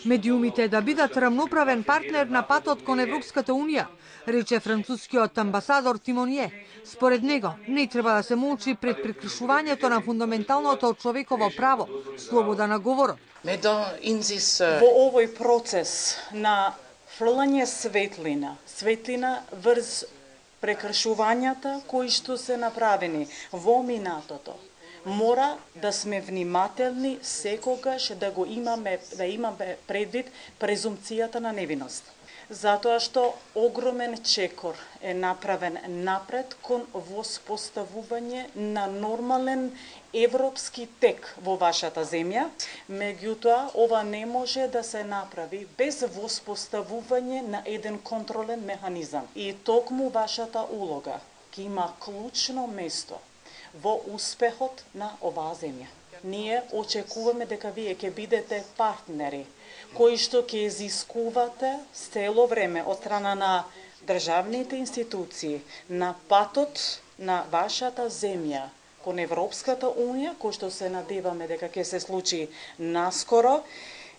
Медиумите да бидат рамноправен партнер на патот кон Европската Унија, рече францускиот амбасадор Тимонје. Според него, не треба да се молчи пред прекршувањето на фундаменталното човеково право, слобода на говорот. Во овој процес на фрлање светлина врз прекршувањата кои што се направени во минатото, мора да сме внимателни секогаш да имаме предвид презумпцијата на невиност. Затоа што огромен чекор е направен напред кон воспоставување на нормален европски тек во вашата земја, меѓутоа ова не може да се направи без воспоставување на еден контролен механизам. И токму вашата улога ќе има клучно место во успехот на оваа земја. Ние очекуваме дека вие ќе бидете партнери кои што ќе изискувате цело време од страна на државните институции на патот на вашата земја кон Европската Унија, кој што се надеваме дека ќе се случи наскоро,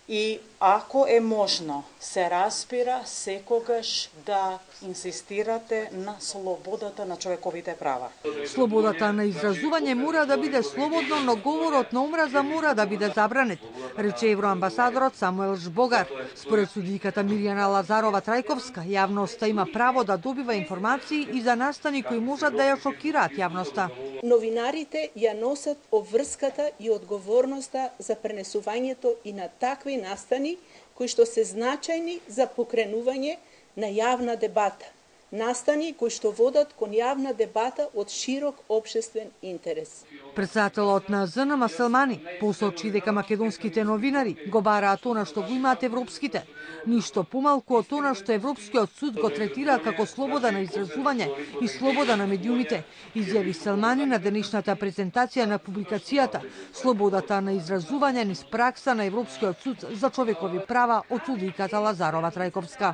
и ако е можно, се разбира секогаш да инсистирате на слободата на човековите права. Слободата на изразување мора да биде слободно, но говорот на омраза мора да биде забранет, рече евроамбасадорот Самуел Жбогар. Според судиката Мирјана Лазарова Трајковска, јавноста има право да добива информации и за настани кои можат да ја шокираат јавноста. Новинарите ја носат обврската и одговорноста за пренесувањето и на такви настани кои што се значајни за покренување на јавна дебата. Настани кои што водат кон јавна дебата од широк општествен интерес. Претседателот на ЗНМ Селмани посочи дека македонските новинари го бараат она што го имаат европските, ништо помалку од она што Европскиот суд го третира како слобода на изразување и слобода на медиумите, изјави Селмани на денешната презентација на публикацијата Слободата на изразување низ пракса на Европскиот суд за човекови права од судиката Лазарова Трајковска.